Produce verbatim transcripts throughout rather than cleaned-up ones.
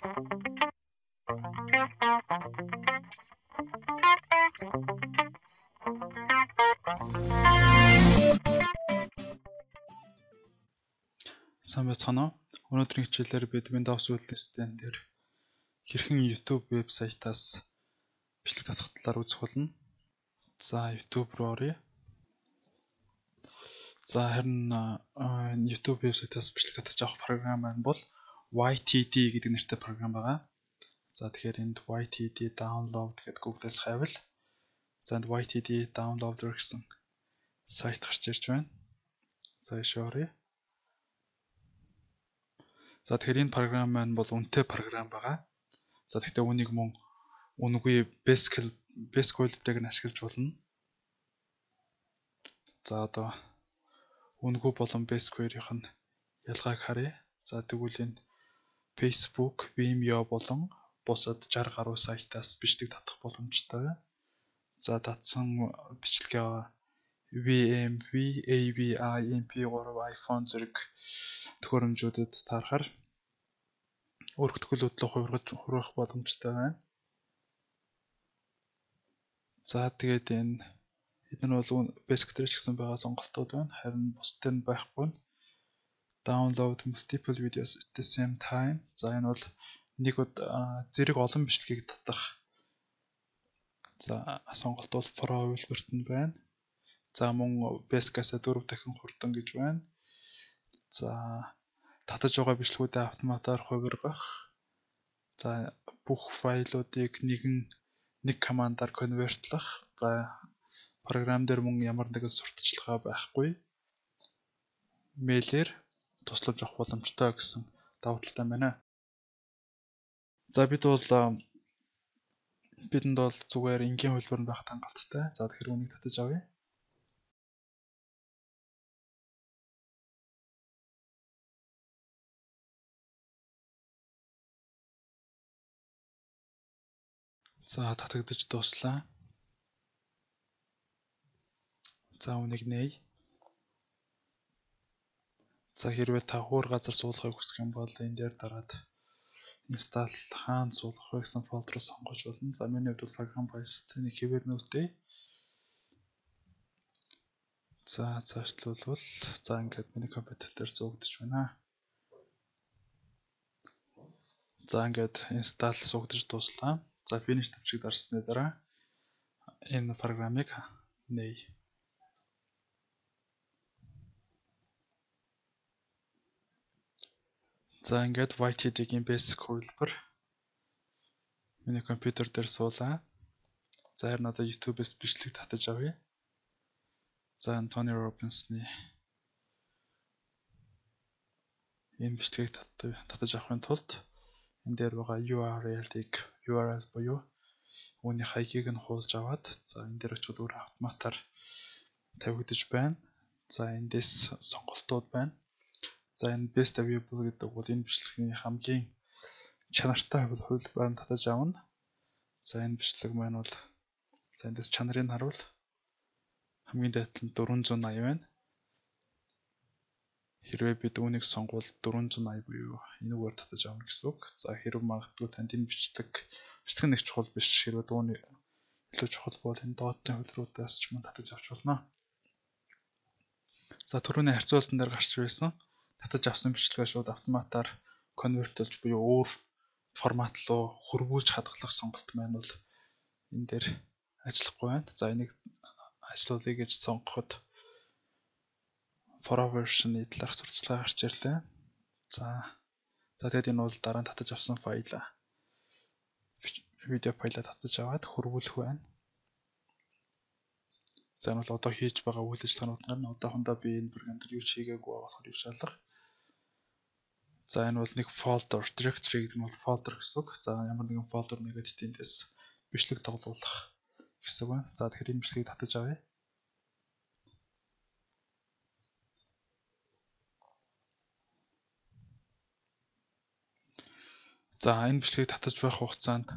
Сайн байцгаана уу? Өнөөдрийн хичээлээр бид Windows Ultimate дээр хэрхэн YouTube вебсайтаас бичлэг татах талаар үзэх болно. За YouTube руу оръё. За харин YouTube вебсайтаас бичлэг татаж авах програм маань бол Y T D гэдэг нэртэй програм байгаа. За тэгэхээр энд Y T D download гэдэг Google-аас хайвал за энд Y T D downloader гэсэн сайт гарч ирж байна. За ийшээ оръё. За тэгэхээр энэ програм маань бол үнэтэй програм байгаа. За тэгэхээр үнийг мөн үнэгүй basic basic web-ийг ашиглаж болно. За одоо үнэгүй болон basic web-ийн ялгааг харъя. За тэгвэл энэ Facebook, Vimeo болон бусад сарвар гаруй сайтаас бичлэг татах боломжтой. За татсан бичлэгээ V M V, A V I, M P three, iPhone зэрэг төхөөрөмжүүдэд таарахаар өргөтгөлөд хувиргаж хүргэх боломжтой байна. За тэгээд энэ эдгээр бол basic дээр ч гэсэн байгаа сонголтууд байна. Харин бусдад нь байхгүй. Download multiple videos at the same time. За энэ бол нэг зэрэг олон бичлэгийг татах. За сонголт бол Pro үйлбэрт нь байна. За мөн basic-аас дөрөв дахин хурдан гэж байна. За татаж байгаа бичлэгүүдээ автоматар хувиргах. За бүх файлуудыг нэгэн нэг командаар конвертлах. За програм дээр мөн ямар нэгэн сурталчилгаа байхгүй. Мэйлээр туслаж авах боломжтой гэсэн давуу талтай байна. За бид бол бидэнд бол зүгээр энгийн хөлбөр нь байх хангалттай. За тэгэхээр үнийг татаж авъя. За татагдаж дуслаа. За үнийг нээе. За хэрвээ та хуур газар суулгахыг хүсэх юм бол энэ дээр дараад install хаана суулгах вэ гэсэн фолдер сонгож болно. За миний хувьд бол програм files тэнийг хэвээр нүүтээ. За цаашлуулвал за ингээд миний компьютер дээр зуугдаж байна. За ингээд install суугдаж дуслаа. За finish тавчиг дарсны дараа энэ програмыг нээе. За ингээд Y T D-ийн basic хувилбар миний компьютер дээр суулаа. За харин одоо YouTube-ээс бичлэг татаж авъя. За Tony Robbins-ны энэ бичлэгийг татаж авахын тулд энэ дээр байгаа U R L-ийг U R L буюу үүний хаягийг нь хуулж аваад за энэ дээр очиод өөр автоматар тавигдаж байна. За эндээс сонголтууд байна. За энэ best available гэдэг бол энэ бичлэгийн хамгийн чанартай хувилбарыг татаж авна. За энэ бичлэг маань бол за эндээс чанарыг харуул хамгийн дээд нь дөрвөн зуун аяа байна. Хэрвээ бид үүнийг сонгвол дөрвөн зуун аяа буюу энэгээр татаж авна гэсэн үг. За хэрвээ магадгүй танд энэ бичлэг бичлэг нэг чухал биш. Хэрвээ дууны илүү чухал бол энэ доотны хувилбаруудаас ч мөн татаж авч болно. За түрүүний харьцуултан дээр гарч байсан татаж авсан бичлэгээ шууд автоматар конвертолж буюу өөр формат руу хөрвүүлж хадгалах сонголт маань бол энэ дээр ажиллахгүй байна. За энийг ажиллуулъя гэж сонгоход Pro version-ы талаарх сурталчилгаа гарч ирлээ. За за тэгээд энэ бол дараа нь татаж авсан файл видео файлаа татаж аваад хөрвүүлэх байна. За энэ бол одоо хийж байгаа үйл ажиллагаанууд нь одоохондоо би энэ програм дээр юу ч хийгээгүй болохоор юу шалгах. За энэ бол нэг folder, directory гэдэг нь бол folder гэсэн үг. За ямар нэгэн folder нэгээд тэндээс бичлэг тоглуулах гэсэн байна. За тэгэхээр энэ бичлэгийг татаж авъя. За энэ бичлэгийг татаж байх хугацаанд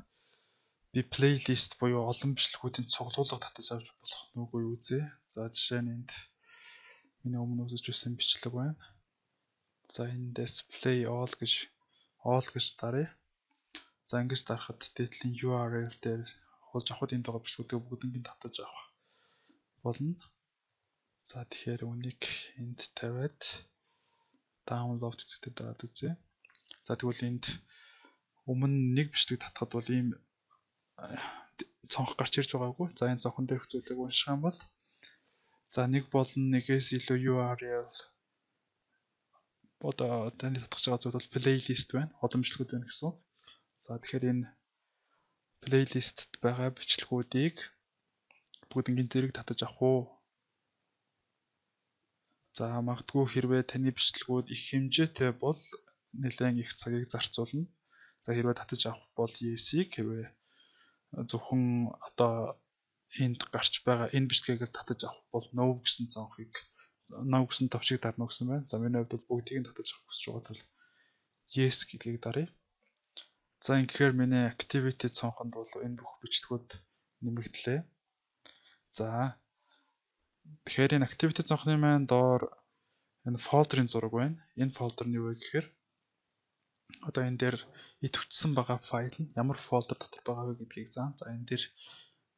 би плейлист буюу олон бичлэгүүдийн цуглуулга татаж авч болох нь үгүй үзье. За жишээ нь энд миний өмнө үзэж байсан бичлэг байна. За эндээс play all гэж all гэж даръя. За ингэж дарахад дээдлийн ю ар эл дээр хуулж авахд энд байгаа бичлэгүүдийг бүгднийг татаж авах болно. За тэгэхээр үнийг энд тавиад download гэдэг дараад үзье. За тэгвэл энд өмнө нэг бичлэг татахад бол ийм цонх гарч ирж байгаагүй. За энэ цонхон дээрх зүйлийг унших юм бол за нэг болон нэгээс илүү ю ар эл одоо таны татгаж байгаа зүйл бол плейлист байна. Олон бичлэгүүд байна гэсэн. За тэгэхээр энэ плейлистэд байгаа бичлэгүүдийг бүгднийг зэрэг татаж авах уу? За магадгүй хэрвээ таны бичлэгүүд их хэмжээтэй бол нэлээд их цагийг зарцуулна. За хэрвээ татаж авах бол yes-ийг, хэрвээ зөвхөн одоо энд гарч байгаа энэ бичлэгийг татаж авах бол no гэсэн цонхыг no гэсэн товчийг дарна гэсэн байна. За миний хувьд бол бүгдийг нь татаж авах гэж байгаа тул yes гэдгийг даръя. За ингэхээр миний activity цонхонд бол энэ бүх бичлэгүүд нэмэгдлээ. За тэгэхээр энэ activity цонхны маань доор энэ фолдерын зураг байна. Энэ фолдер нь юу вэ гэхээр одоо энэ дээр идэвхжсэн байгаа файл нь ямар фолдер дотор байгаа вэ гэдгийг заа. За энэ дээр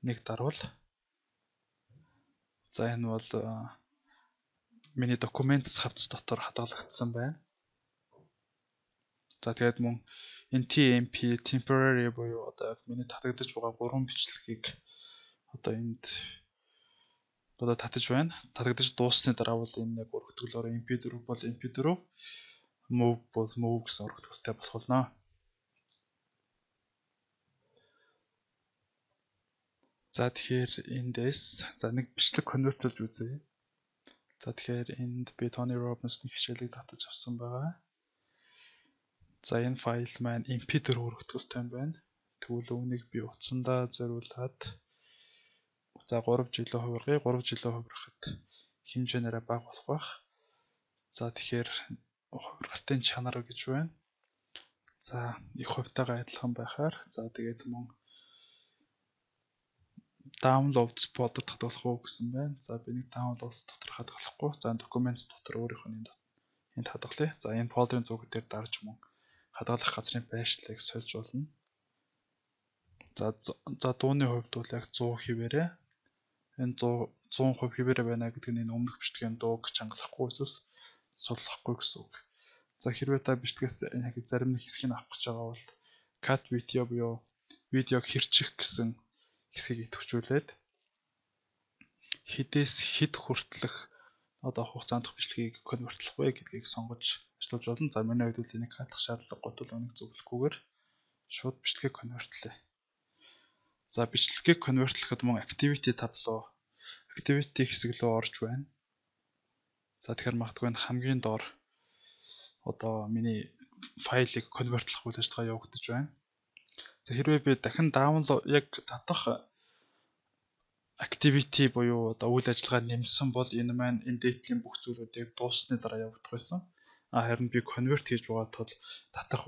нэг дарвал. За энэ бол миний documents хавц дотор хадгалагдсан байна. За тэгээд мөн энэ ти эм пи temporary буюу одоо миний татагдаж байгаа гурван бичлэгийг одоо энд одоо татаж байна. Татагдаж дууссаны дараа бол энэ нэг өргөтгөлөөр эм пи фор бол эм пи фор, move бол move гэсэн өргөтгөлтэй болох болно. За тэгэхээр эндээс за нэг бичлэг конвертлж үзье. За тэгэхээр энд би Tony Robbins-ны хичээлийг татаж авсан байгаа. За энэ файл маань эм пи фор өргөтгөлтэй байна. Тэгвэл үүнийг би утсандаа зориулаад за гурав жилийн хувиргая. гурав жилийн хувирахад хэмжээнээрээ бага болох байх. За тэгэхээр хувиргалтын чанар гэж байна. За их хувьтайгаа адилхан байхаар за тэгээд мөн downloads folder татгалах уу гэсэн байна. За би нэг downloads дотор хадгалахгүй. За documents дотор өөрийнх нь энд хадгалъя. За энэ folder-ын зураг дээр дарж мөн хадгалах газрын байршлыг сольж болно. За за дууны хувьд бол яг сто хэвээрээ энэ сто хувь хэвээрээ байна гэдэг нь энэ өмнөх бичлэгийн дууг чангалахгүй эсвэл суллахгүй гэсэн үг. За хэрвээ та бичлэгээс яг зарим нэг хэсгийг авах гэж байгаа бол cut video буюу видеог хэрчих гэсэн хэсгийг идэвхжүүлээд хэдээс хэд хүртэлх одоо хугацаанд бичлэгийг конвертлох вэ гэдгийг сонгож ажиллаж болно. За миний хувьд энийг хатлах шаардлагагүй тул үнийг зөвлөхгүйгээр шууд бичлэгийг конвертлээ. За бичлэгийг конвертлэхэд мөн activity табло activity хэсэг рүү орж байна. За тэгэхээр магадгүй энэ хамгийн доор одоо миний файлыг конвертлох үйл ажиллагаа явагдаж байна. За хэрвээ би дахин download яг татах activity буюу одоо үйл ажиллагаа нэмсэн бол энэ маань энэ дээдлийн бүх зүйлүүдийг дууссаны дараа явагдах байсан. А харин би convert хийж байгаа тул татах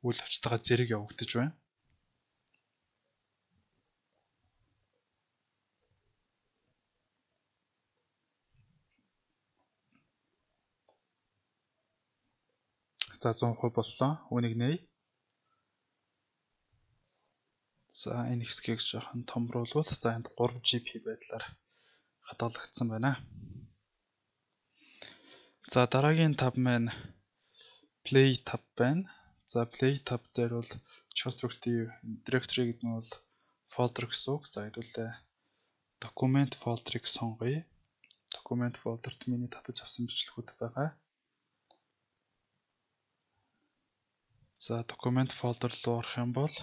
үйл ажиллагаа зэрэг явагдаж байна. За сто хувь боллоо. Үүнийг нээе. За энэ хэсгийг жоохон томруулвал за энд тhree джи би байдлаар хадгалагдсан байна. За дараагийн таб маань play tab байна. За play tab дээр бол constructive directory гэдэг нь бол folder гэсэн үг. За хэдүүлээ document folder-ыг сонгоё. Document folder-т миний татаж авсан бичлэгүүд байгаа. За document folder руу орох юм бол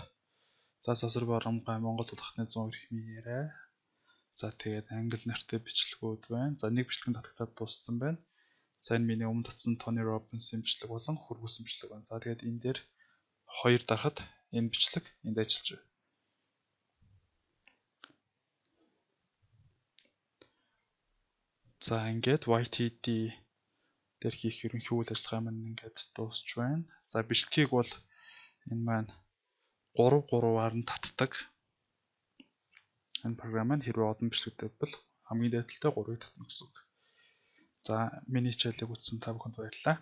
за сосор барамгай Монгол улхтны one эрх минерэ. За тэгээд англи нэртэй бичлэгүүд байна. За нэг бичлэг татагдаад дууссан байна. За энэ миний өмнө татсан Tony Robbins-ийн бичлэг болон хөрвүүлсэн бичлэг байна. За тэгээд энэ дээр хоёр дарахад энэ бичлэг энд ажиллаж байна. За ингээд уай ти ди дээр хийх ерөнхий үйл ажиллагаа маань ингээд дуусч байна. За бичлэгийг бол энэ маань three three-аар нь татдаг. Энэ програм маань хэрвээ олон бичлэгтэй бол хамгийн дээдэлтэй three-ыг татна гэсэн үг. За миний хичээлийг үзсэн та бүхэнд баярлалаа.